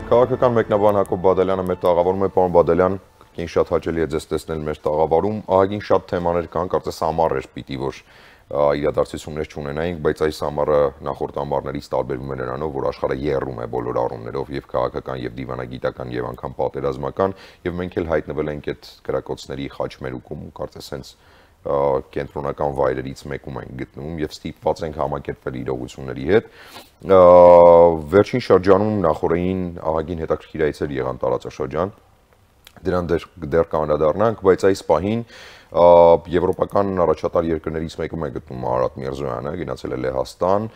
Քաղաքական մեկնաբան Հակոբ Բադալյանը մեր տաղավարում է, պարոն Բադալյան, կին շատ հաճելի է ձեզ տեսնել մեր տաղավարում, ահագին շատ թեմաներ կան, կարծես ամառ էր պիտի որ իրադարձություններ չունենայինք, բայց այս ամառը նախորդ ամառներից տարբերվում է նրանով, որ աշխարհը եռում է բոլոր առումներով եւ քաղաքական եւ դիվանագիտական եւ անգամ պատերազմական եւ մենք էլ հայտնվել ենք այդ գրակոծների խաչմերուկում, կարծես հենց կենտրոնական վայրերից մեկում ենք գտնվում եւ ստիպված ենք համակերպվել իրողությունների հետ։ Վերջին շրջանում նախորդին ահագին հետաքրքիր այցեր եղան տարածաշրջան, դրան դեռ կանդրադառնանք, բայց այս պահին եվրոպական առաջատար երկրներից մեկում է գտնվում Արարատ Միրզոյանը, գնացել է Լեհաստան,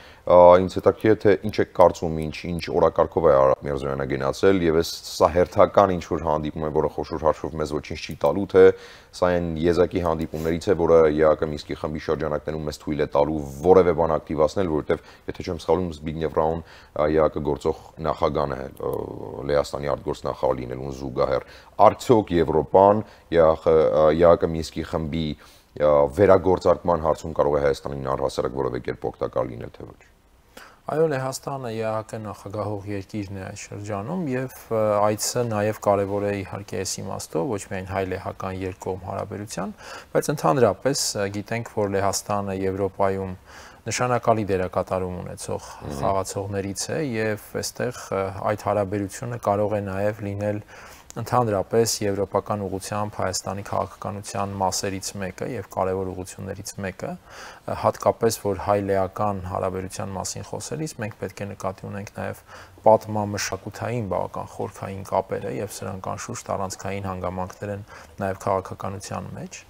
ինձ հետաքրքիր է թե ինչ է կարծում, ինչ օրակարգով է Արարատ Միրզոյանը գնացել եւ սա հերթական ինչ որ հանդիպում է, որը խոշոր հաշվով մեզ ոչինչ չի տալու, թե սա այն եզակի հանդիպումներից է, որը ԵԱԿ Մինսկի խմբի շրջանակներում մեզ թույլ է տալու որևէ բան ակտիվացնել, որովհետեւ եթե չեմ սխալվում Զբիգնև Ռաուն ԵԱԿ գործող նախագահն է Լեհաստանի արտգործնախարար լինելուն զուգահեռ, արդյոք Եվրոպան ԵԱԿ Մինսկի խմբի վերագործարկման հարցում կարող է Հայաստանին առհասարակ որևէ կերպ օգտակար լինել թե ոչ։ Այո, Լեհաստանը ԵԱԿ նախագահող երկիրն է այս շրջանում եւ այցը նաեւ կարեւոր է իհարկե այս իմաստով, ոչ միայն հայ-լեհական երկկողմ հարաբերության, բայց ընդհանրապես գիտենք, որ Լեհաստանը Եվրոպայում նշանակալի դերակատարում ունեցող խաղացողներից է եւ այստեղ այդ հարաբերությունը կարող է նաեւ լինել ընդհանրապես եվրոպական ուղղությամբ Հայաստանի քաղաքականության մասերից մեկը եւ կարևոր ուղղություններից մեկը, հատկապես որ հայ-լեհական հարաբերության մասին խոսելիս մենք պետք է նկատի ունենք նաեւ պատմամշակութային բավական խորքային կապերը եւ սրանք անշուշտ առանցքային հանգամանքներ են նաեւ քաղաքականության մեջ։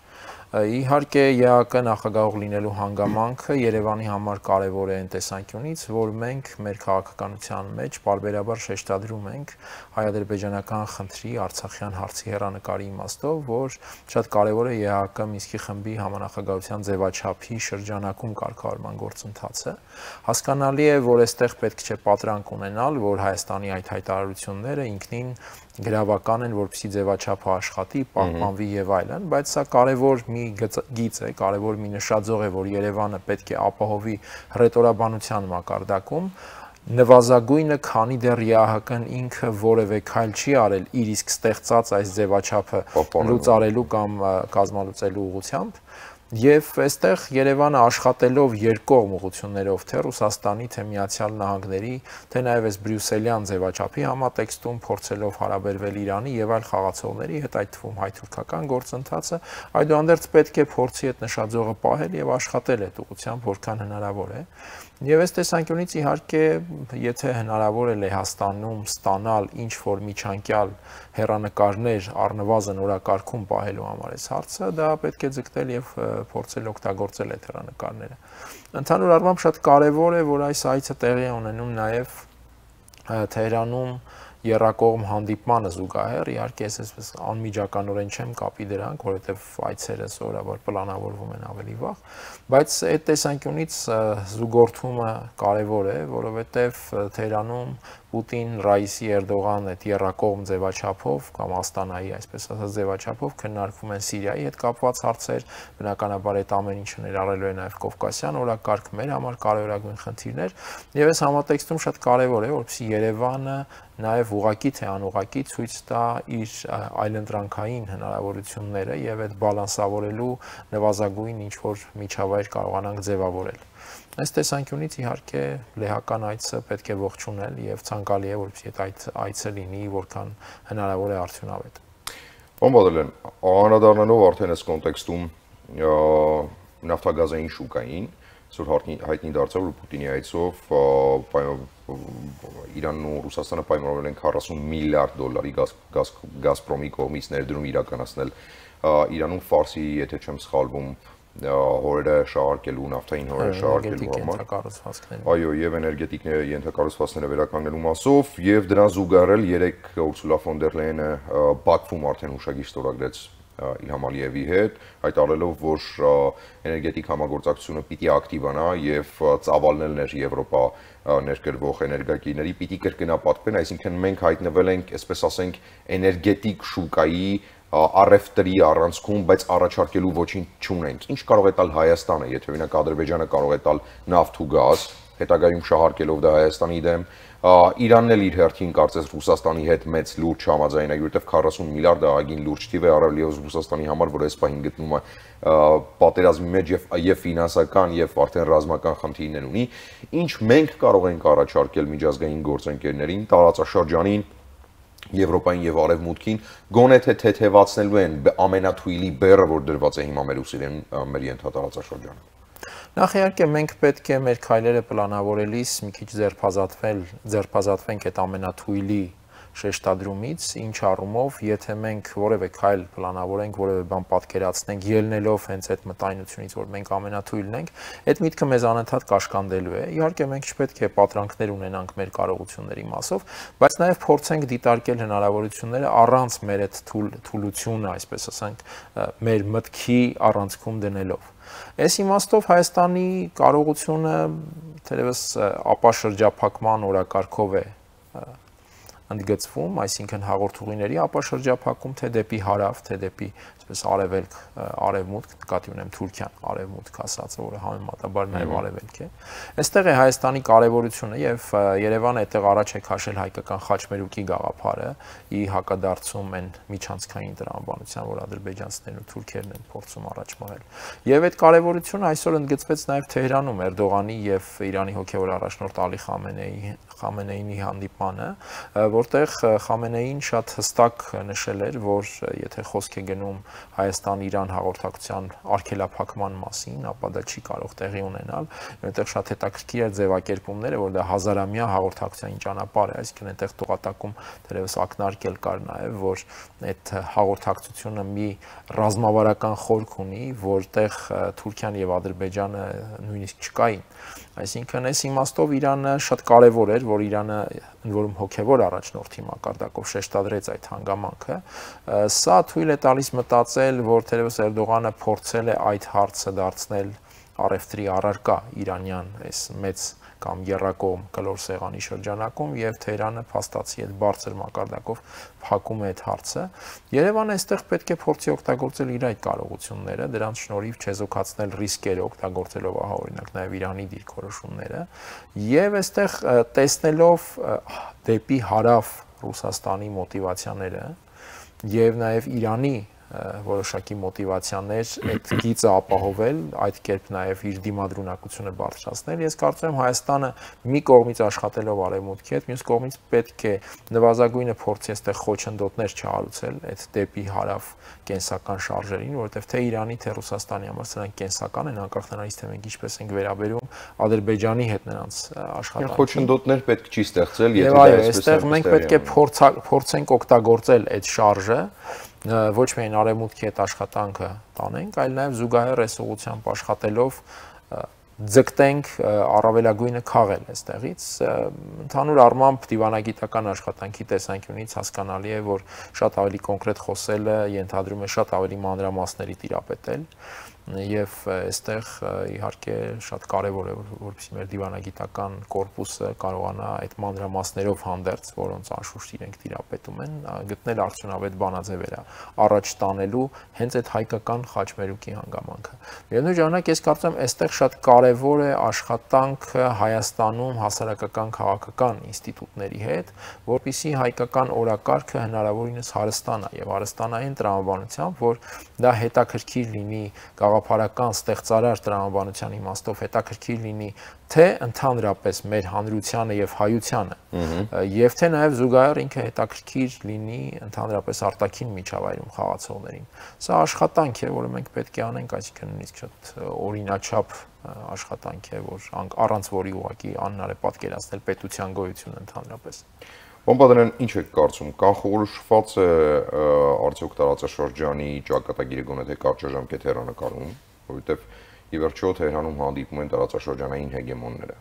Իհարկե ԵԱԿ նախագահող լինելու հանգամանքը Երևանի համար կարևոր է այն տեսանկյունից, որ մենք մեր քաղաքականության մեջ պարբերաբար շեշտադրում ենք հայ-ադրբեջանական խնդրի Արցախյան հարցի հեռանկարի իմաստով, որ շատ կարևոր է ԵԱԿ Մինսկի խմբի համանախագահության ձևաչափի շրջանակում կարգավորման գործընթացը։ Հասկանալի է, որ այստեղ պետք չէ պատրանք ունենալ, որ Հայաստանի այդ հայտարարությունները ինքնին գրավական են, որպեսզի ձևաչափը աշխատի, պահպանվի եւ այլն, բայց սա կարևոր մի գիծ է, կարևոր մի նշաձող է, որ Երևանը պետք է ապահովի հռետորաբանության մակարդակում նվազագույնը, քանի դեռ ԵԱՀԿ-ն ինքը որևէ քայլ չի արել իր իսկ ստեղծած այս ձևաչափը լուծարելու կամ կազմալուծելու ուղղությամբ։ Եվ այստեղ Երևանը աշխատելով երկկողմ ուղղություններով թե Ռուսաստանի, թե Միացյալ Նահանգների, թե նաև այս բրյուսելյան ձևաչափի համատեքստում փորձելով հարաբերվել Իրանի եւ այլ խաղացողների հետ, այդ թվում հայ-թուրքական գործընթացը, այդուհանդերձ պետք է փորձի այդ նշաձողը պահել եւ աշխատել այդ ուղղությամբ որքան հնարավոր է։ Եվ այս տեսանկյունից իհարկե, եթե հնարավոր է Լեհաստանում ստանալ ինչ-որ միջանկյալ հեռանկարներ առնվազն օրակարգում պահելու համար այս հարցը, դա պետք է ձգտել եւ փորձել օգտագործել այդ հեռանկարները։ Ընդհանուր առմամբ շատ կարեւոր է, որ այս այցը տեղի է ունենում նաեւ Թեհրանում եռակողմ հանդիպմանը զուգահեռ, իհարկե ես անմիջականորեն չեմ կապի դրանք, որովհետև այցերը սովորաբար պլանավորվում են ավելի վաղ, բայց այդ տեսանկյունից զուգորդումը կարևոր է, որովհետև Թեհրանում Պուտին, Ռայիսի, Էրդողան այդ եռակողմ ձևաչափով կամ Աստանայի, այսպես ասած, ձևաչափով քննարկվում են Սիրիայի հետ կապված հարցեր, բնականաբար այդ ամեն ինչը ներառելու է նաև Կովկասյան օրակարգ, մեր համար կարևորագույն խնդիրներ, եւ այս համատեքստում շատ կարևոր է, որպեսզի Երևանը նաև ուղղակի թե անուղղակի ցույց տա իր այլընտրանքային հնարավորությունները եւ այդ բալանսավորելու նվազագույն ինչ որ միջավայր կարողանանք ձևավորել։ Այս տեսանկյունից իհարկե լեհական այցը պետք է ողջունել եւ ցանկալի է, որպեսզի այդ այցը լինի որքան հնարավոր է արդյունավետ։ Պարոն Բադալյան, անդրադառնալով արդեն այս կոնտեքստում նավթագազային շուկային, որ հայտնի դարձավ, որ Պուտինի այցով Իրանն ու Ռուսաստանը պայմանավորել են 40 միլիարդ դոլարի Գազպրոմի կողմից ներդրում իրականացնել Իրանում Ֆարսի, եթե չեմ սխալվում, հորերը շահարկելու, նավթային հորերը շահարկելու համար։ Այո, եւ էներգետիկ ենթակառուցվածքները վերականգնելու մասով, եւ դրան զուգահեռ 3 Ուրսուլա ֆոն դեր Լեյենը Բաքվում արդեն հուշագիր ստորագրեց Իլհամ Ալիևի հետ, հայտարարելով, որ էներգետիկ համագործակցությունը պիտի ակտիվանա եւ ծավալներն Եվրոպա ներկրվող էներգակիրների պիտի կրկնապատկվեն, այսինքն մենք հայտնվել ենք, այսպես ասենք, էներգետիկ շուկայի առևտրի առանցքում, բայց առաջարկելու ոչինչ չունենք։ Ինչ կարող է տալ Հայաստանը, եթե օրինակ Ադրբեջանը կարող է տալ նավթ ու գազ, հետագայում շահարկելով դա Հայաստանի դեմ, Իրանն էլ իր հերթին կարծես Ռուսաստանի հետ մեծ լուրջ չհամաձայնի, որովհետև 40 միլիարդ ահագին լուրջ թիվ է առավելևս Ռուսաստանի համար, որ այս պահին գտնում է պատերազմի մեջ եւ ֆինանսական եւ արդեն ռազմական խնդիրներ ունի, ինչ մենք կարող ենք առաջարկել միջազգային գործընկերներին տարածաշրջանին Եվրոպային եւ Արևմուտքին գոնե թե թեթևացնելու են ամենաթույլի բեռը, որ դրված է հիմա մեր ուսերեն մեր ենթատարածաշրջանում։ Նախ իհարկե մենք պետք է մեր քայլերը պլանավորելիս մի քիչ ձերբազատվենք այդ ամենաթույլի շեշտադրումից, ինչ առումով, եթե մենք որևէ քայլ պլանավորենք, որևէ բան պատկերացնենք, ելնելով հենց այդ մտայնությունից, որ մենք ամենաթույլն ենք, այդ միտքը մեզ անընդհատ կաշկանդելու է։ Իհարկե մենք չպետք է պատրանքներ ունենանք մեր կարողությունների մասով, բայց նաև փորձենք դիտարկել հնարավորությունները առանց մեր այդ թուլությունը, այսպես ասենք, մեր մտքի առանցքում դնելով։ Այս իմաստով Հայաստանի կարողությունը թերևս ապաշրջափակման օրակարգով է ընդգծվում, այսինքն հաղորդուղիների ապաշրջափակում, թե դեպի հարավ, թե դեպի այսպես արևելք, արևմուտք, նկատի ունեմ Թուրքիան, արևմուտք ասած, որը համեմատաբար նաև արևելք է։ Այստեղ է Հայաստանի կարևորությունը եւ Երևանը այդտեղ առաջ է քաշել հայկական խաչմերուկի գաղափարը՝ ի հակադարձում այն միջանցքային տրամաբանության, որ ադրբեջանցիներն ու թուրքերն են փորձում առաջ մղել։ Եվ այդ կարևորությունը այսօր ընդգծվեց նաև Թեհրանում Էրդողանի եւ Իրանի հոգեվոր առաջնորդ Ալի Խամենեյի հանդիպանը, որտեղ Խամենեին շատ հստակ նշել էր, որ եթե խոսք է գնում Հայաստան-Իրան հաղորդակցության արգելափակման մասին, ապա դա չի կարող տեղի ունենալ, այնտեղ շատ հետաքրքիր է ձևակերպումները, որ դա հազարամյա հաղորդակցության ճանապարհ է, այսինքն այնտեղ տողատակում թերևս ակնարկել կար նաև, որ այդ հաղորդակցությունը մի ռազմավարական խորք ունի, որտեղ Թուրքիան եւ Ադրբեջանը նույնիսկ չկային։ Այսինքն այս իմաստով Իրանը շատ կարևոր էր, որ Իրանը ընդ որում հոգևոր առաջնորդի մակարդակով շեշտադրեց այդ հանգամանքը։ Սա թույլ է տալիս մտածել, որ թերևս Էրդողանը փորձել է այդ հարցը դարձնել առևտրի առարկա իրանյան այս մեծ կամ եռակողմ կլոր սեղանի շրջանակում եւ Թեհրանը փաստացի այդ բարձր մակարդակով փակում է այդ հարցը։ Երևանը այստեղ պետք է փորձի օգտագործել իր այդ կարողությունները, դրանց շնորհիվ չեզոքացնել ռիսկերը, օգտագործելով օրինակ նաեւ Իրանի դիրքորոշումները եւ այստեղ տեսնելով դեպի հարավ Ռուսաստանի մոտիվացիաները եւ նաեւ Իրանի որոշակի մոտիվացիաներ այդ գիծը ապահովել, այդ կերպ նաև իր դիմադրունակությունը բարձրացնել։ Ես կարծում եմ Հայաստանը մի կողմից աշխատելով արևմուտքի հետ, մյուս կողմից պետք է նվազագույնը փորձի այստեղ խոչընդոտներ չհարուցել այդ դեպի հարավ կենսական շարժերին, որովհետև թե Իրանի, թե Ռուսաստանի համար սրանք կենսական են, անկախ նրանից թե մենք ինչպես ենք վերաբերում Ադրբեջանի հետ նրանց աշխատանքին։ Խոչընդոտներ պետք չի ստեղծել, եթե դա այսպես է։ Մենք պետք է փորձենք օգտագործել այդ շարժը ոչ միայն արևմուտքի հետ աշխատանքը տանենք, այլ նաև զուգահեռ այս ուղղությամբ աշխատելով ձգտենք առավելագույնը քաղել այստեղից։ Ընդհանուր առմամբ դիվանագիտական աշխատանքի տեսանկյունից հասկանալի է, որ շատ ավելի կոնկրետ խոսելը ենթադրում է շատ ավելի մանրամասների տիրապետել եւ այստեղ իհարկե շատ կարեւոր է որպեսզի մեր դիվանագիտական կորպուսը կարողանա այդ մանրամասներով հանդերձ, որոնց անշուշտ իրենք տիրապետում են, գտնել արդյունավետ բանաձևեր առաջ տանելու հենց այդ հայկական խաչմերուկի հանգամանքը։ Միևնույն ժամանակ ես կարծում եմ այստեղ շատ կարեւոր է աշխատանքը Հայաստանում հասարակական քաղաքական ինստիտուտների հետ, որպեսզի հայկական օրակարգը հնարավորինս հարստանա եւ հարստանային տրամաբանությամբ, որ դա հետաքրքիր լինի գաղափարական ստեղծարար տրամաբանության իմաստով հետաքրքիր լինի թե ընդհանրապես մեր հանրությանը եւ հայությանը եւ թե նաեւ զուգահեռ ինքը հետաքրքիր լինի ընդհանրապես արտաքին միջավայրում խաղացողներին։ Սա աշխատանք է, որը մենք պետք է անենք, այսինքն նույնիսկ շատ օրինաչափ աշխատանք է, որ առանց որի ուղղակի անհնար է պատկերացնել պետության գոյությունը ընդհանրապես։ Բամբադարյան, ինչ եք կարծում, կանխորոշված է արդյոք տարածաշրջանի ճակատագիրը գոնե թե կարճաժամկետ հեռանկարում, որովհետև ի վերջո Թեհրանում հանդիպում են տարածաշրջանային հեգեմոնները՝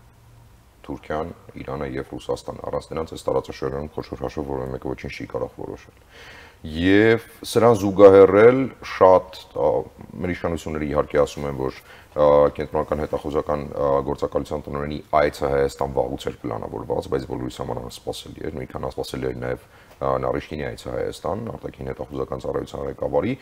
Թուրքիան, Իրանը եւ Ռուսաստանը, առանց նրանց այս տարածաշրջանում խոշոր հաշվով որևէ մեկը ոչինչ չի կարող որոշել։ Եվ սրան զուգահեռել շատ մեր իշխանությունները իհարկե ասում են, որ կենտրոնական հետախուզական գործակալության տնօրենի այցը Հայաստան վաղուց էր պլանավորված, բայց բոլորիս համար անսպասելի էր, նույնքան անսպասելի էր նաև Նարիշկինի այցը Հայաստան, արտաքին հետախուզական ծառայության ղեկավարի,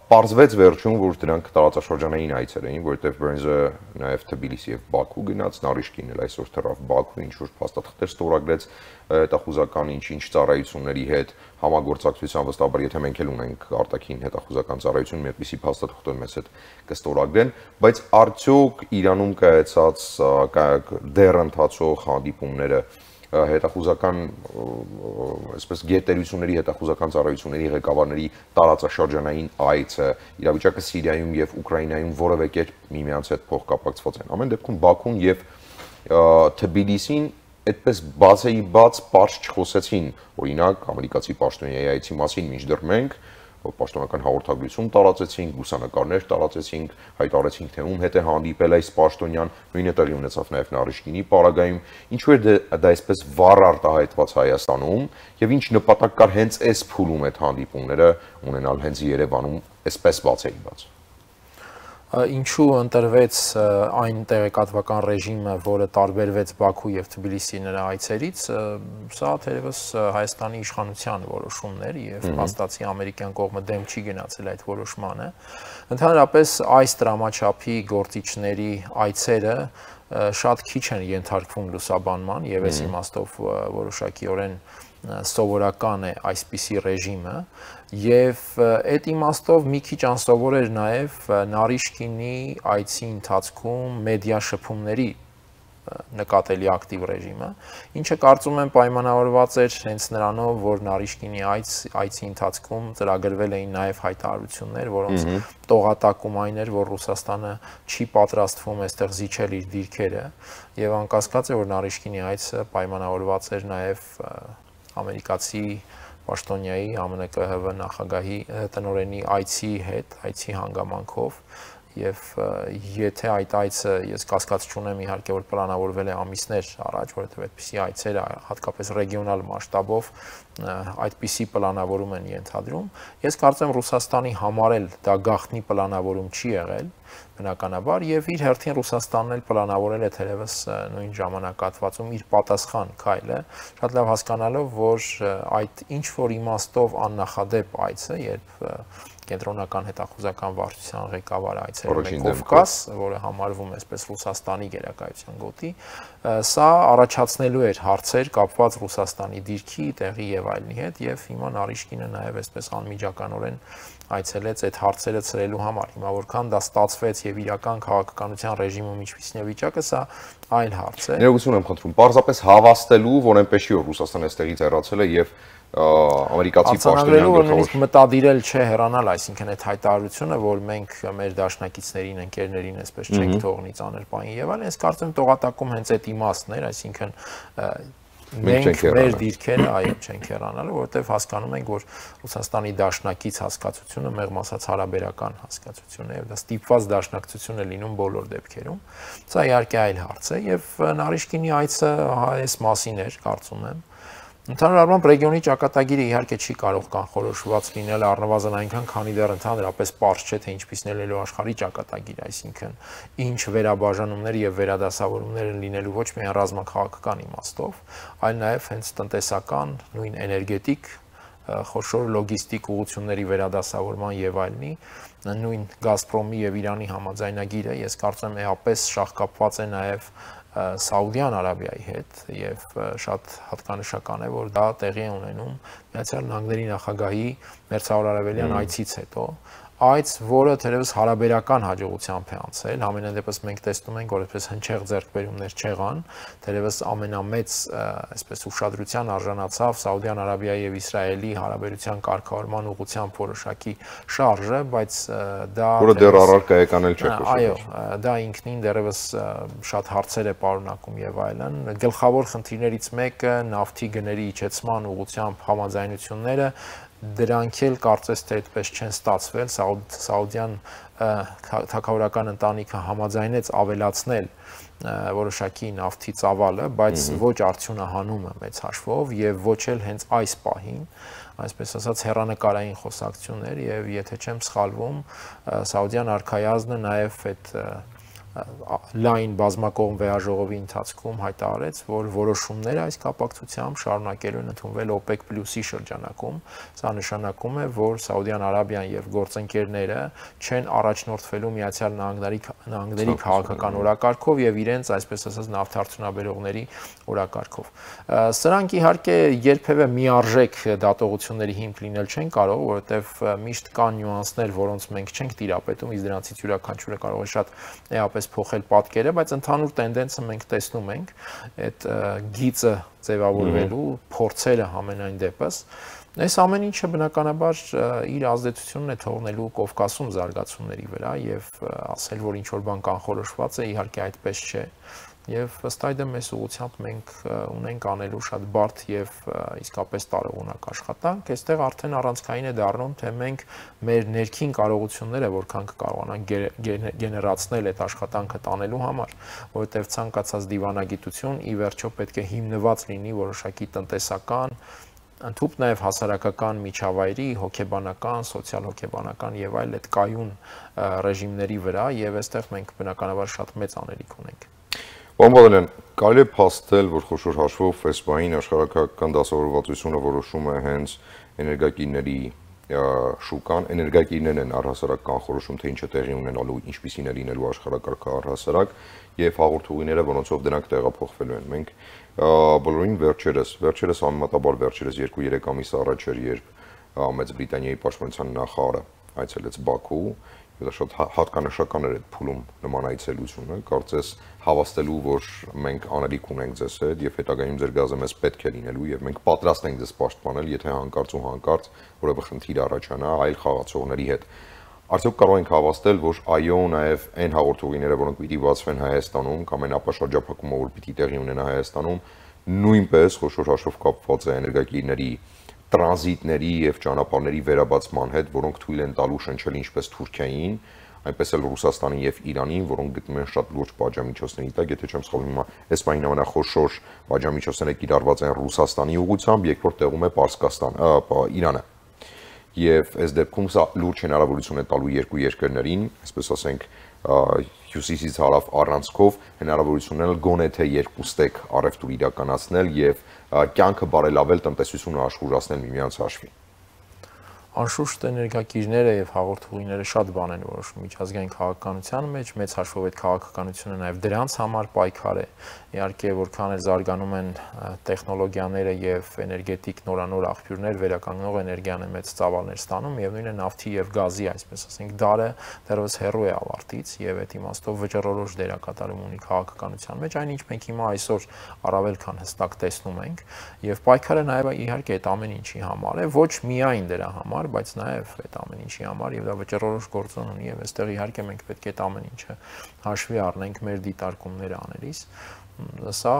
պարզվեց վերջում, որ դրանք տարածաշրջանային այցեր էին, որովհետև Բերնզը նաև Թբիլիսի եւ Բաքու գնաց, Նարիշկինն էլ այսօր թռավ Բաքու, ինչ որ փաստաթղթեր ստորագրեց հետախուզական ինչ ծառայությունների հետ համագործակցության վստահաբար, եթե մենք էլ ունենք արտաքին հետախուզական ծառայություն, մի այդպիսի փաստաթղթեր մեզ հետ կստորագրեն, բայց արդյոք Իրանում կայացած դեռ ընթացող հանդիպումները հետախուզական այսպես գերտերությունների հետախուզական ծառայությունների ղեկավարների տարածաշրջանային այցը իրավիճակը Սիրիայում եւ Ուկրաինայում որևէ կերպ միմյանց հետ փոխկապակցված են։ Ամեն դեպքում Բաքուն եւ Թբիլիսին այդպես բացեի բաց պարզ չխոսեցին, օրինակ ամերիկացի պաշտոնյայի այցի մասին, մինչդեռ մենք պաշտոնական հաղորդագրություն տարածեցինք, լուսանկարներ տարածեցինք, հայտարարեցինք, թե ում հետ է հանդիպել այս պաշտոնյան, նույնը տեղի ունեցավ նաև Նարիշկինի պարագայում, ինչու էր դա այսպես վառ արտահայտված Հայաստանում եւ ինչ նպատակ կար հենց այս փուլում այդ հանդիպումները ունենալ հենց Երևանում այսպես բացեի բաց։ Ինչու ընտրվեց այն տեղեկատվական ռեժիմը, որը տարբերվեց Բաքու եւ Թբիլիսի նրա այցերից, սա թերևս Հայաստանի իշխանության որոշումն էր եւ փաստացի ամերիկյան կողմը դեմ չի գնացել այդ որոշմանը։ Ընդհանրապես այս դրամաչափի գործիչների այցերը շատ քիչ են ենթարկվում լուսաբանման եւ այս իմաստով որոշակիորեն սովորական է այսպիսի ռեժիմը եւ այդ իմաստով մի քիչ անսովոր էր նաեւ Նարիշկինի այցի ընթացքում մեդիա շփումների նկատելի ակտիվ ռեժիմը, ինչը կարծում եմ պայմանավորված էր հենց նրանով, որ Նարիշկինի այցի ընթացքում ծրագրվել էին նաեւ հայտարարություններ, որոնց տողատակում այն էր, որ Ռուսաստանը չի պատրաստվում այստեղ զիջել իր դիրքերը եւ անկասկած է, որ Նարիշկինի այցը պայմանավորված էր նաեւ ամերիկացի պաշտոնյայի ԱՄՆ-ԿՀՎ նախագահի տնօրենի այցի հետ, այցի հանգամանքով եւ եթե այդ այցը ես կասկած չունեմ իհարկե որ պլանավորվել է ամիսներ առաջ, որովհետեւ այդպիսի այցերը հատկապես ռեգիոնալ մասշտաբով այդպիսի պլանավորում են ենթադրում, ես կարծեմ Ռուսաստանի համար էլ դա գաղտնի պլանավորում չի եղել բնականաբար եւ իր հերթին Ռուսաստանն էլ պլանավորել է թերևս նույն ժամանակահատվածում իր պատասխան քայլը, շատ լավ հասկանալով, որ այդ ինչ որ իմաստով աննախադեպ այցը, երբ կենտրոնական հետախուզական վարչության ղեկավարը այցելում է Կովկաս, որը համարվում է այսպես Ռուսաստանի գերակայության գոտի, սա առաջացնելու էր հարցեր կապված Ռուսաստանի դիրքի, տեղի եւ այլնի հետ եւ հիմա Նարիշկինը նաեւ այսպես անմիջականորեն այցելեց այդ հարցերը ցրելու համար։ Հիմա որքան դա ստացվեց եւ իրական քաղաքականության ռեժիմում ինչպիսին է վիճակը, սա այլ հարց է։ Ներողություն եմ խնդրում, պարզապես հավաստելու, որ այնպես չի որ Ռուսաստանը այստեղից հեռացել է եւ ամերիկացի պաշտոնյան գլխավոր մտադիրել չէ հեռանալ, այսինքն այդ հայտարարությունը, որ մենք մեր դաշնակիցներին, ընկերներին այսպես չենք թողնի ծանր պահին եւ այլն, ես կարծում տողատակում հենց այդ իմաստն էր, այսինքն մենք մեր դիրքերը այո չենք հեռանալու, որովհետև հասկանում ենք, որ Ռուսաստանի դաշնակից հասկացությունը մեղմ ասած հարաբերական հասկացություն է եւ դա ստիպված դաշնակցություն է լինում բոլոր դեպքերում։ Սա իհարկե այլ հարց է եւ Նարիշկինի այցը այս մասին էր, կարծում եմ։ Ընդհանուր առմամբ ռեգիոնի ճակատագիրը իհարկե չի կարող կանխորոշված լինել առնվազն այնքան, քանի դեռ ընդհանրապես պարզ չէ, թե ինչպիսն է լինելու աշխարհի ճակատագիրը, այսինքն ինչ վերաբաժանումներ եւ վերադասավորումներ են լինելու ոչ միայն ռազմաքաղաքական իմաստով, այլ նաեւ հենց տնտեսական, նույն էներգետիկ, խոշոր լոգիստիկ ուղղությունների վերադասավորման եւ այլնի, նույն Գազպրոմի եւ Իրանի համաձայնագիրը, ես կարծում եմ էապես շահկապված է նաեւ Սաուդյան Արաբիայի հետ եւ շատ հատկանշական է, որ դա տեղի է ունենում Միացյալ Նահանգների նախագահի մերձարևելյան այցից հետո, այց, որը թերևս հարաբերական հաջողությամբ է անցել, ամենայն դեպս մենք տեսնում ենք, որ այսպես հնչեղ ձեռքբերումներ չեղան, թերևս ամենամեծ այսպես ուշադրության արժանացավ Սաուդյան Արաբիայի եւ Իսրայելի հարաբերության կարգավորման ուղղությամբ որոշակի շարժը, բայց դա որը դեռ առարկա է կանել չէ։ Այո, դա ինքնին դեռևս շատ հարցեր է պարունակում եւ այլն։ Գլխավոր խնդիրներից մեկը նավթի գների իջեցման ուղղությամբ համաձայնությունները դրանք էլ կարծես թե այդպես չեն ստացվել, Սաուդյան թագավորական ընտանիքը համաձայնեց ավելացնել որոշակի նավթի ծավալը, բայց ոչ արդյունահանումը մեծ հաշվով եւ ոչ էլ հենց այս պահին, այսպես ասած հեռանկարային խոսակցություններ եւ եթե չեմ սխալվում, Սաուդյան արքայազնը նաեւ այդ լայն բազմակողմ վեաժողովի ընթացքում հայտարարեց, որ որոշումները այս կապակցությամբ շարունակելու են ընդունվել OPEC+-ի շրջանակում։ Սա նշանակում է, որ Սաուդյան Արաբիան եւ գործընկերները չեն առաջնորդվելու Միացյալ Նահանգների քաղաքական օրակարգով եւ իրենց, այսպես ասած, նավթարդյունաբերողների օրակարգով։ Սրանք իհարկե երբևէ միարժեք դատողությունների հիմք լինել չեն կարող, որովհետեւ միշտ կան նյուանսներ, որոնց մենք չենք տիրապետում, իսկ դրանցից յուրաքանչյուրը կարող է շատ էապես փոխել պատկերը, բայց ընդհանուր տենդենսը մենք տեսնում ենք այդ գիծը ձևավորվելու փորձերը ամենայն դեպս։ Այս ամեն ինչը բնականաբար իր ազդեցությունն է թողնելու Կովկասում զարգացումների վրա եւ ասել, որ ինչ որ բան կանխորոշված է, իհարկե այդպես չէ։ Եվ ըստ այդմ այս ուղղությամբ մենք ունենք անելու շատ բարդ եւ իսկապես տարողունակ աշխատանք, այստեղ արդեն առանցքային է դառնում, թե մենք մեր ներքին կարողությունները որքան կկարողանանք գեներացնել այդ աշխատանքը տանելու համար, որովհետեւ ցանկացած դիվանագիտություն ի վերջո պետք է հիմնված լինի որոշակի տնտեսական ընդհանուր նաև հասարակական միջավայրի, հոգեբանական, սոցիալ-հոգեբանական եւ այլ այդ կայուն ռեժիմների վրա եւ այստեղ մենք բնականաբար շատ մեծ անելիք ունենք։ Բամբալյան, կարելի է փաստել, որ խոշոր հաշվով FESPA-ին աշխարհակական դասավորվածությունը որոշում է հենց էներգակիրների շուկան, էներգակիրներն են առհասարակ կանխորոշում, թե ինչ է տեղի ունենալու, ինչպիսին է լինելու աշխարհակարգը առհասարակ եւ հաղորդուղիները, որոնցով դրանք տեղափոխվելու են։ Մենք բոլորին վերջերս համեմատաբար վերջերս 2-3 ամիս առաջ էր, երբ Մեծ Բրիտանիայի պաշտպանության նախարարը այցելեց Բաքու, դա շատ հատկանշական էր այդ փուլում նման այցելությունը, կարծես հավաստելու, որ մենք անելիք ունենք ձեզ հետ եւ հետագայում ձեր գազը մեզ պետք է լինելու եւ մենք պատրաստ ենք ձեզ պաշտպանել, եթե հանկարծ ու հանկարծ որևէ խնդիր առաջանա այլ խաղացողների հետ։ Արդյոք կարող ենք հավաստել, որ այո, նաեւ այն հաղորդուղիները, որոնք պիտի բացվեն Հայաստանում կամ այն ապաշրջափակումը, որ պիտի տեղի ունենա Հայաստանում, նույնպես խոշոր հաշվով կապված է էներգակիրների տրանզիտների եւ ճանապարհների վերաբացման հետ, որոնք թույլ են տալու շնչել ինչպես Թուրքիային, այնպես էլ Ռուսաստանին եւ Իրանին, որոնք գտնում են շատ լուրջ պատժամիջոցների տակ, եթե չեմ սխալվում, հիմա այս պահին ամենախոշոր պատժամիջոցները կիրառված են Ռուսաստանի ուղղությամբ, երկրորդ տեղում է Պարսկաստան, Իրանը։ Եվ այս դեպքում սա լուրջ հնարավորություն է տալու երկու երկրներին, այսպես ասենք, հյուսիսից հարավ առանցքով հնարավորությունն էլ գոնե թե երկուստեք առևտուր իրականացնել եւ կյանքը բարելավել, տնտեսությունը աշխուժացնել միմյանց հաշվին։ Անշուշտ էներգակիրները եւ հաղորդուղիները շատ բան են որոշում միջազգային քաղաքականության մեջ, մեծ հաշվով այդ քաղաքականությունը նաեւ դրանց համար պայքար է։ Իհարկե, որքան էլ զարգանում են տեխնոլոգիաները եւ էներգետիկ նորանոր աղբյուրներ, վերականգնող էներգիան է մեծ ծավալներ ստանում եւ նույնը նավթի եւ գազի, այսպես ասենք, դարը դեռևս հեռու է ավարտից եւ այդ իմաստով վճռորոշ դերակատարում ունի քաղաքականության մեջ, այնինչ մենք հիմա այսօր առավել քան հստակ տեսնում ենք եւ պայքարը նաեւ իհարկե այդ ամեն ինչի համար է, ոչ միայն դրա համար, բայց նաև այդ ամեն ինչի համար եւ դա վճռորոշ գործոն ունի եւ այստեղ իհարկե մենք պետք է այդ ամեն ինչը հաշվի առնենք մեր դիտարկումները անելիս։ Սա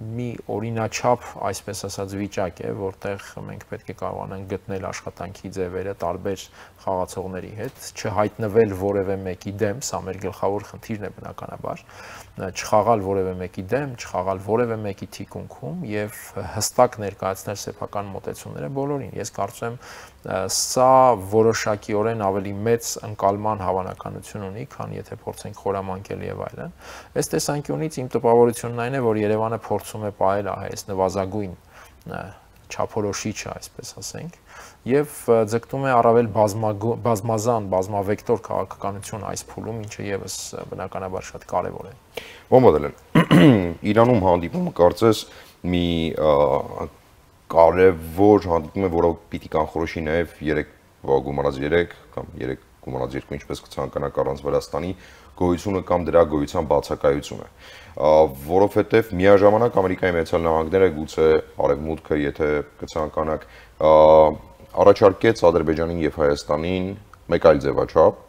մի օրինաչափ, այսպես ասած, վիճակ է, որտեղ մենք պետք է կարողանանք գտնել աշխատանքի ձևերը տարբեր խաղացողների հետ, չհայտնվել որևէ մեկի դեմ, սա մեր գլխավոր խնդիրն է բնականաբար, չխաղալ որևէ մեկի դեմ, չխաղալ որևէ մեկի թիկունքում եւ հստակ ներկայացնել սեփական մոտեցումները բոլորին։ Ես կարծում եմ սա որոշակիորեն ավելի մեծ ընկալման հավանականություն ունի, քան եթե փորձենք խորամանկել եւ այլն։ Այս տեսանկյունից իմ տպավորությունն այն է, որ Երևանը փորձում է պահել այս նվազագույն չափորոշիչը, այսպես ասենք, եւ ձգտում է առավել բազմազան, բազմավեկտոր քաղաքականություն այս փուլում, ինչը եւս բնականաբար շատ կարեւոր է։ Բամբալյան, Իրանում հանդիպումը կարծես մի կարևոր հանդիպում է, որը պիտի կանխորոշի նաեւ 3 գումարած 3 կամ 3 գումարած 2, ինչպես կցանկանաք առանց Վրաստանի գոյությունը կամ դրա գոյության բացակայությունը, որովհետեւ միաժամանակ Ամերիկայի Միացյալ Նահանգները գուցե արևմուտքը, եթե կցանկանաք, առաջարկեց Ադրբեջանին եւ Հայաստանին մեկ այլ ձևաչափ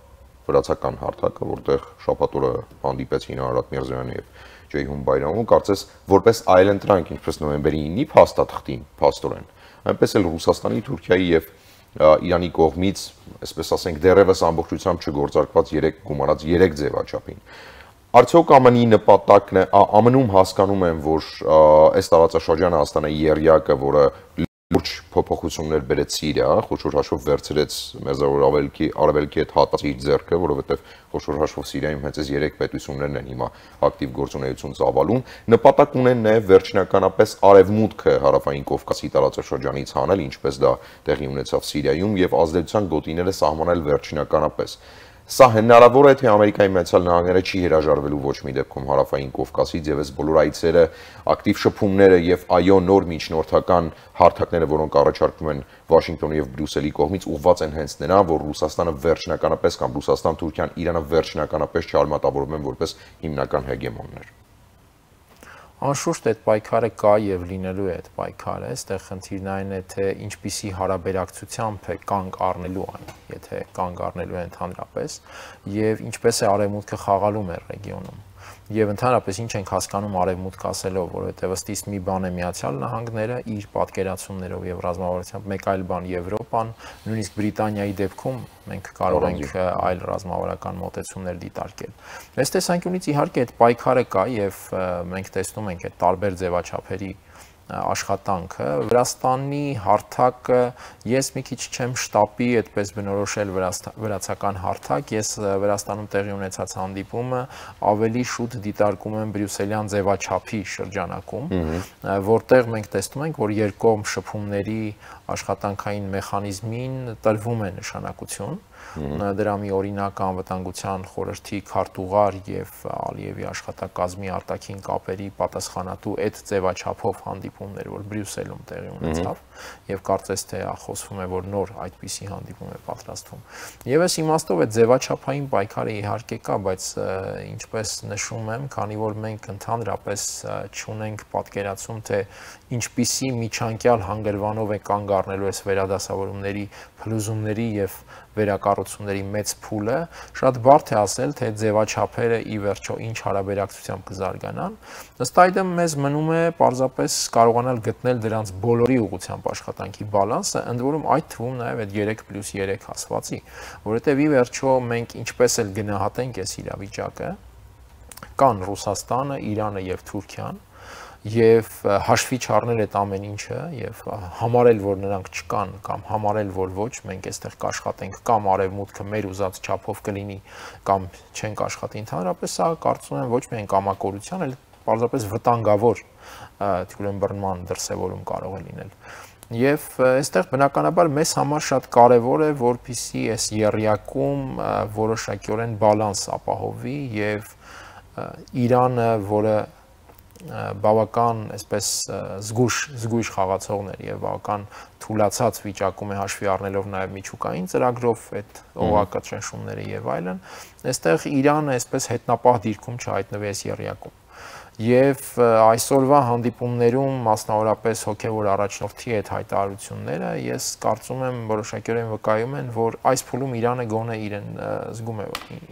վրացական հարթակը, որտեղ շաբաթ օրը հանդիպեցին Արարատ Միրզոյանը եւ Ջեյհուն Բայրամովը, կարծես որպես այլընտրանք, ինչպես նոյեմբերի 9-ի փաստաթղթին, փաստորեն, այնպես էլ Ռուսաստանի, Թուրքիայի եւ Իրանի կողմից, այսպես ասենք, դեռևս ամբողջությամբ չգործարկված 3 գումարած 3 ձևաչափին։ Արդյոք ԱՄՆ-ի նպատակն է, ԱՄՆ-ում հասկանում են, որ այս տարածաշրջանը Հայաստանը երյակը, որը լուրջ փոփոխություններ բերեց Սիրիա, խոշոր հաշվով վերցրեց Մերձավոր Արևելքի հետ հատած իր ձեռքը, որովհետև խոշոր հաշվով Սիրիայում հենց այս 3 պետություններն են հիմա ակտիվ գործունեություն ծավալում, նպատակ ունեն նաև վերջնականապես արևմուտքը հարավային Կովկասի տարածաշրջանից հանել, ինչպես դա տեղի ունեցավ Սիրիայում, եւ ազդեցության գոտիները սահմանել վերջնականապես։ Սա հնարավոր է, թե Ամերիկայի Միացյալ Նահանգները չի հրաժարվելու ոչ մի դեպքում հարավային Կովկասից եւ այս բոլոր այցերը, ակտիվ շփումները եւ այո նոր միջնորդական հարթակները, որոնք առաջարկվում են Վաշինգտոնի եւ Բրյուսելի կողմից, ուղղված են հենց նրան, որ Ռուսաստանը վերջնականապես կամ Ռուսաստան, Թուրքիան, Իրանը վերջնականապես չարմատավորվում են որպես հիմնական հեգեմոններ։ Անշուշտ այդ պայքարը կա եւ լինելու է այդ պայքարը, այստեղ խնդիրն այն է, թե ինչպիսի հարաբերակցությամբ է կանգ առնելու այն, եթե կանգ առնելու է ընդհանրապես, եւ ինչպես է արևմուտքը խաղալու մեր ռեգիոնում։ Եվ ընդհանրապես ինչ ենք հասկանում արևմուտք ասելով, որովհետև ըստ իս մի բան է Միացյալ Նահանգները իր պատկերացումներով եւ ռազմավարությամբ, մեկ այլ բան Եվրոպան, նույնիսկ Բրիտանիայի դեպքում մենք կարող ենք այլ ռազմավարական մոտեցումներ դիտարկել։ Այս տեսանկյունից իհարկե այդ պայքարը կա եւ մենք տեսնում ենք այդ տարբեր ձևաչափերի աշխատանքը Վրաստանի հարթակը ես մի քիչ չեմ շտապի այդպես բնորոշել վրացական հարթակ, ես Վրաստանում տեղի ունեցած հանդիպումը ավելի շուտ դիտարկում եմ բրյուսելյան ձևաչափի շրջանակում, որտեղ մենք տեսնում ենք, որ երկկողմ շփումների աշխատանքային մեխանիզմին տրվում է նշանակություն, դրա մի օրինակ անվտանգության խորհրդի քարտուղար եւ Ալիևի աշխատակազմի արտաքին կապերի պատասխանատու այդ ձևաչափով հանդիպումներ, որ Բրյուսելում տեղի ունեցավ եւ կարծես թե խոսվում է, որ նոր այդպիսի հանդիպում է պատրաստվում։ Եվ այս իմաստով այդ ձևաչափային պայքարը իհարկե կա, բայց ինչպես նշում եմ, քանի որ մենք ընդհանրապես չունենք պատկերացում, թե ինչպիսի միջանկյալ հանգրվանով է կանգ առնելու այս վերադասավորումների, փլուզումների եւ վերակառուցումների մեծ փուլը, շատ բարդ է ասել, թե ձևաչափերը ի վերջո ինչ հարաբերակցությամբ կզարգանան։ Ըստ այդմ մեզ մնում է պարզապես կարողանալ գտնել դրանց բոլորի ուղղությամբ աշխատանքի բալանսը, ընդ որում այդ թվում նաև այդ 3+3 ասվածի, որովհետև ի վերջո մենք ինչպես էլ գնահատենք այս իրավիճակը, կան Ռուսաստանը, Իրանը եւ Թուրքիան, եւ հաշվի չառնել այդ ամեն ինչը եւ համարել, որ նրանք չկան կամ համարել, որ ոչ, մենք այստեղ կաշխատենք կամ արևմուտքը մեր ուզած չափով կլինի կամ չենք աշխատի ընդհանրապես, սա կարծում եմ ոչ միայն կամակորության, այլ պարզապես վտանգավոր թյուրըմբռնման դրսևորում կարող է լինել։ Եվ այստեղ բնականաբար մեզ համար շատ կարևոր է, որպեսզի այս եռյակում որոշակիորեն բալանս ապահովվի եւ Իրանը, որը բավական այսպես զգույշ խաղացողներ եւ բավական թուլացած վիճակում է հաշվի առնելով նաեւ միջուկային ծրագրով այդ օղակը ճնշումները եւ այլն, այստեղ Իրանը այսպես հետնապահ դիրքում չհայտնվի այս եռյակում։ Եվ այսօրվա հանդիպումներում մասնավորապես հոգևոր առաջնորդի այդ հայտարարությունները ես կարծում եմ որոշակիորեն վկայում են, որ այս փուլում Իրանը գոնե իրեն զգում է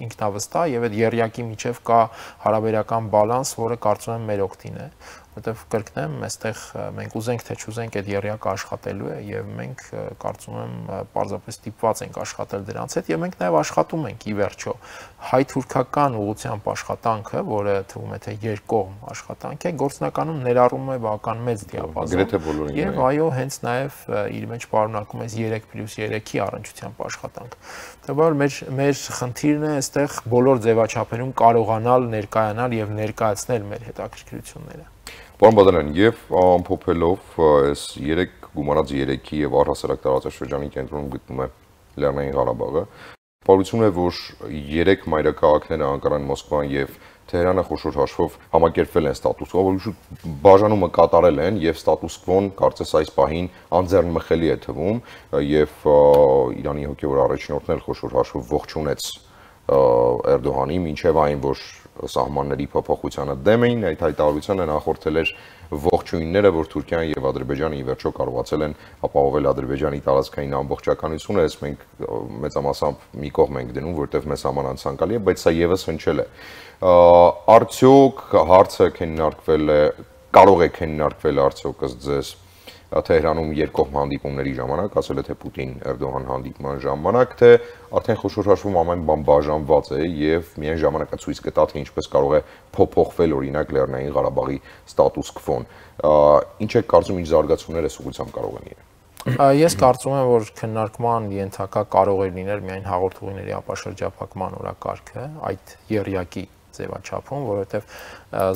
ինքնավստահ եւ այդ եռյակի միջև կա հարաբերական բալանս, որը կարծում եմ մեր օգտին է, որտեղ կրկնեմ, այստեղ մենք ուզենք թե չուզենք այդ եռյակը աշխատելու է եւ մենք կարծում եմ պարզապես ստիպված ենք աշխատել դրանց հետ եւ մենք նաեւ աշխատում ենք ի վերջո հայ-թուրքական ուղղությամբ աշխատանքը, որը թվում է թե երկկողմ աշխատանք է, գործնականում ներառում է բավական մեծ դիապազոն եւ այո, հենց նաեւ իր մեջ պարունակում է 3+3-ի առնչությամբ աշխատանք։ Դեռ մեր խնդիրն է այստեղ բոլոր ձևաչափերում կարողանալ ներկայանալ եւ ներկայացնել մեր հետաքրքրությունները։ Պարոն Բադալյան, եւ ամփոփելով այս 3 գումարած 3-ի եւ առհասարակ տարածաշրջանի կենտրոնում գտնվում է Լեռնային Ղարաբաղը, պարզություն է, որ 3 մայրաքաղաքները Անկարան, Մոսկվան եւ Թեհրանը խոշոր հաշվով համակերպվել են ստատուս կվո, որ բաժանումը կատարել են եւ ստատուս կվոն կարծես այս պահին անձեռնմխելի է թվում եւ Իրանի հոգեվոր առաջնորդն էլ խոշոր հաշվով ողջունեց Էրդողանին, մինչեւ այն, որ սահմանների փոփոխությանը դեմ էին, այդ հայտարարությանը նախորդել էր ողջույնները, որ Թուրքիան եւ Ադրբեջանը ի վերջո կարողացել են ապահովել Ադրբեջանի տարածքային ամբողջականությունը, այս մենք մեծամասամբ մի կողմ ենք դնում, որտեղ մեզ համար անցանկալի է, բայց սա եւս հնչել է։ Արդյոք հարցը քննարկվել է, կարող է քննարկվել արդյոք ըստ ձեզ Թեհրանում երկկողմ հանդիպումների ժամանակ, ասել է թե Պուտին-Էրդողան հանդիպման ժամանակ, թե արդեն խոշոր հաշվում ամեն բան բաժանված է եւ միայն ժամանակը ցույց կտա, թե ինչպես կարող է փոփոխվել օրինակ Լեռնային Ղարաբաղի ստատուս քվոն։ Ինչ է կարծում, ինչ զարգացումներ է ուղղությամբ կարող են իրեն։ Ես կարծում եմ, որ քննարկման ենթակա կարող է լինել միայն հաղորդումների ապաշրջափակման օրակարգը, այդ եռյակի ձևաչափում, որովհետև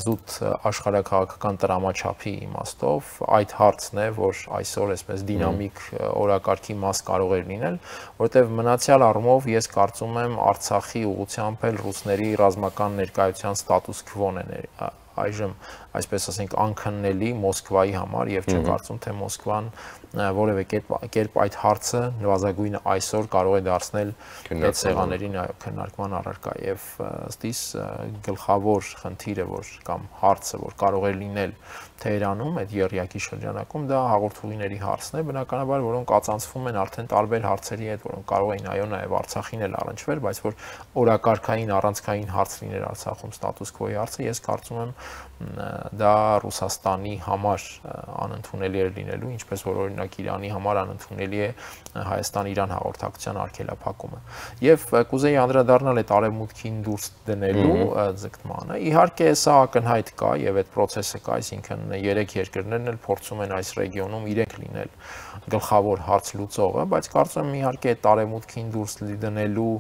զուտ աշխարհաքաղաքական տրամաչափի իմաստով այդ հարցն է, որ այսօր այսպես դինամիկ օրակարգի մաս կարող է լինել, որովհետև մնացյալ առումով ես կարծում եմ Արցախի ուղղությամբ էլ ռուսների ռազմական ներկայության ստատուս քվոն է այժմ այսպես ասենք անքննելի Մոսկվայի համար եւ չեմ կարծում թե Մոսկվան որևէ կերպ այդ հարցը նվազագույնը այսօր կարող է դարձնել այդ սեղաններին քննարկման առարկա եւ ըստ իս գլխավոր խնդիրը որ կամ հարցը որ կարող է լինել Թեհրանում այդ եռյակի շրջանակում դա հաղորդումների հարցն է բնականաբար որոնք ածանցվում են արդեն տարբեր հարցերի հետ որոնք կարող էին այո նաեւ Արցախին էլ առնչվել բայց որ օրակարգային առանցքային հարց լիներ Արցախում ստատուս քվոյի հարցը ես կարծում եմ դա Ռուսաստանի համար անընդունելի է լինելու, ինչպես որ օրինակ Իրանի համար անընդունելի է Հայաստան-Իրան հաղորդակցության արգելափակումը։ Եվ կուզեի անդրադառնալ այդ արևմուտքին դուրս դնելու ձգտմանը։ Իհարկե սա ակնհայտ կա եւ այդ process-ը կա, այսինքն երեք երկրներն էլ փորձում են այս ռեգիոնում իրենք լինել գլխավոր հարց լուծողը, բայց կարծում եմ իհարկե այդ արևմուտքին դուրս դնելու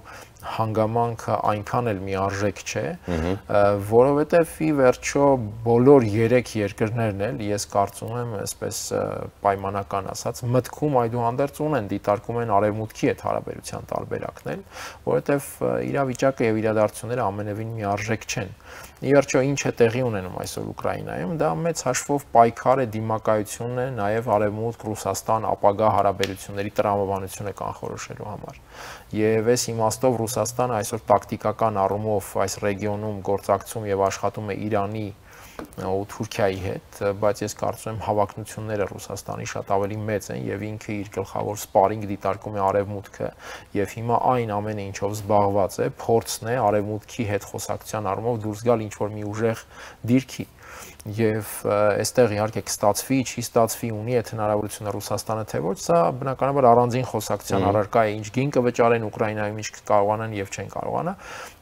հանգամանքը այնքան էլ միարժեք չէ, որովհետև ի վերջո բոլոր երեք երկրներն էլ ես կարծում եմ, այսպես պայմանական ասած, մտքում այդուհանդերձ ունեն դիտարկում են արևմուտքի այդ հարաբերության տարբերակն էլ, որովհետև իրավիճակը եւ իրադարձությունները ամենևին միարժեք չեն։ Ի վերջո ինչ է տեղի ունենում այսօր Ուկրաինայում, դա մեծ հաշվով պայքար է, դիմակայություն է, նաև արևմուտք Ռուսաստան ապագա հարաբերությունների տրամաբանությունը կանխորոշելու համար։ Եվ այս իմաստով Ռուսաստանը այսօր տակտիկական առումով այս ռեգիոնում գործակցում եւ աշխատում է Իրանի ու Թուրքիայի հետ, բայց ես կարծում եմ հավակնությունները Ռուսաստանի շատ ավելի մեծ են եւ ինքը իր գլխավոր սպարինգ դիտարկում է արևմուտքը եւ հիմա այն ամենը ինչով զբաղված է, փորձն է արևմուտքի հետ խոսակցության առումով դուրս գալ ինչ որ մի ուժեղ դիրքի եւ այստեղ իհարկե կստացվի, չի ստացվի, ունի այդ հնարավորությունը Ռուսաստանը թե ոչ, սա բնականաբար առանձին խոսակցության առարկա է, ինչ գին կվճարեն Ուկրաինայում, ինչ կարողանան եւ չեն կարողանա,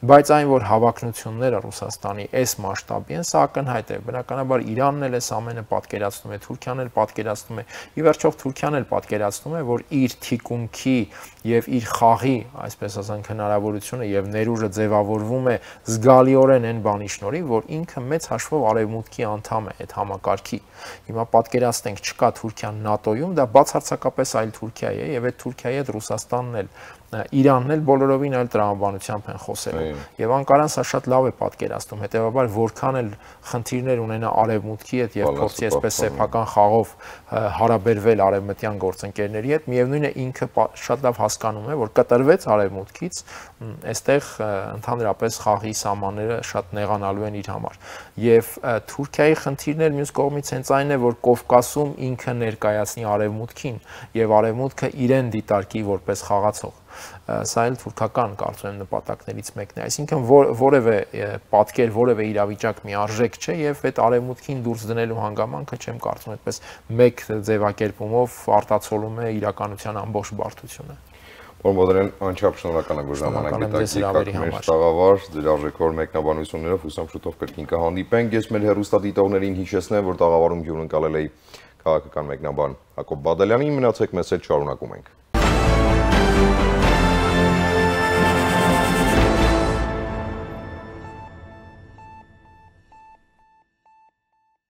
բայց այն որ հավակնությունները Ռուսաստանի այս մասշտաբի են, սա ակնհայտ է, բնականաբար Իրանն էլ էս ամենը պատկերացնում է, Թուրքիան էլ պատկերացնում է, ի վերջո Թուրքիան էլ պատկերացնում է, որ իր թիկունքի եւ իր խաղի, այսպես ասենք, հնարավորությունը եւ ներուժը ձևավորվում է զգալիորեն այն բանի շնորհիվ, որ ինքը մեծ հաշվով արևմուտքի անդամ է այդ համակարգի։ Հիմա պատկերացնենք, չկա Թուրքիան ՆԱՏՕ-ում, դա բացարձակապես այլ Թուրքիա է եւ այդ Թուրքիայի հետ Ռուսաստանն էլ Իրանն էլ բոլորովին այլ տրամաբանությամբ են խոսելու եւ Անկարան սա շատ լավ է պատկերացնում հետեւաբար որքան էլ խնդիրներ ունենա արևմուտքի հետ եւ փորձի այսպես սեփական խաղով հարաբերվել արևմտյան գործընկերների հետ միևնույն է ինքը շատ լավ հասկանում է որ կտրվեց արևմուտքից այստեղ ընդհանրապես խաղի սահմանները շատ նեղանալու են իր համար եւ Թուրքիայի խնդիրն էլ մյուս կողմից հենց այն է որ Կովկասում ինքը ներկայացնի արևմուտքին եւ արևմուտքը իրեն դիտարկի որպես խաղացող սա էլ թուրքական կարծում եմ նպատակներից մեկն է այսինքն որևէ պատկեր որևէ իրավիճակ միարժեք չէ եւ այդ արևմուտքին դուրս դնելու հանգամանքը չեմ կարծում այդպես մեկ ձևակերպումով արտացոլում է իրականության ամբողջ բարդությունը Պարոն Բադալյան, անչափ շնորհակալ եմ, որ ժամանակ գտաք մեր տաղավար, ձեր արժեքավոր մեկնաբանություններով հուսամ շուտով կրկին կհանդիպենք։ Ես մեր հեռուստադիտողներին հիշեցնեմ, որ տաղավարում հյուրընկալել էի քաղաքական մեկնաբան Հակոբ Բադալյանին, մնացեք մեզ հետ, շարունակում ենք։